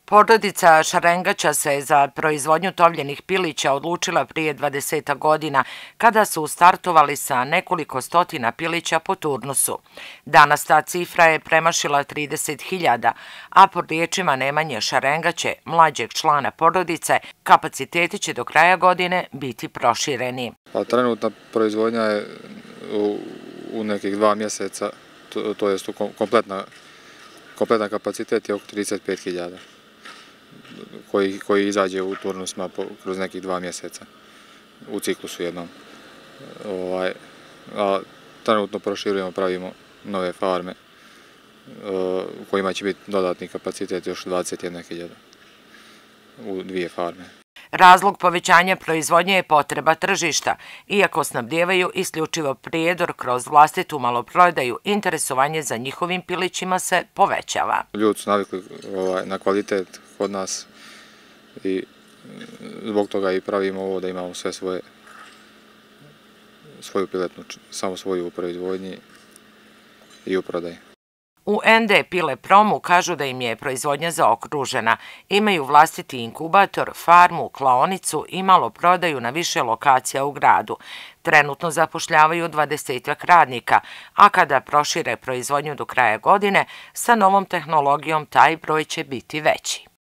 Porodica Šarengaća se za proizvodnju tovljenih pilića odlučila prije 20 godina, kada su startovali sa nekoliko stotina pilića po turnusu. Danas ta cifra je premašila 30.000, a po riječima Nemanje Šarengaće, mlađeg člana porodice, kapaciteti će do kraja godine biti prošireni. Trenutna proizvodnja je u nekih 2 mjeseca, to je kompletan kapacitet je oko 35.000. Koji izađe u turnusima kroz nekih 2 mjeseca u ciklusu jednom. A trenutno proširujemo, pravimo nove farme u kojima će biti dodatni kapacitet još 21.000 u 2 farme. Razlog povećanja proizvodnje je potreba tržišta. Iako snabdijevaju isključivo prijedor kroz vlastitu maloprodaju, interesovanje za njihovim pilićima se povećava. Ljudi su navikli na kvalitet kod nas i zbog toga i pravimo ovo da imamo sve svoju piletnu, samo svoju u proizvodnji i u prodaji. U ND Pile Promu kažu da im je proizvodnja zaokružena. Imaju vlastiti inkubator, farmu, klaonicu i maloprodaju na više lokacija u gradu. Trenutno zapošljavaju 20 radnika, a kada prošire proizvodnju do kraja godine, sa novom tehnologijom taj broj će biti veći.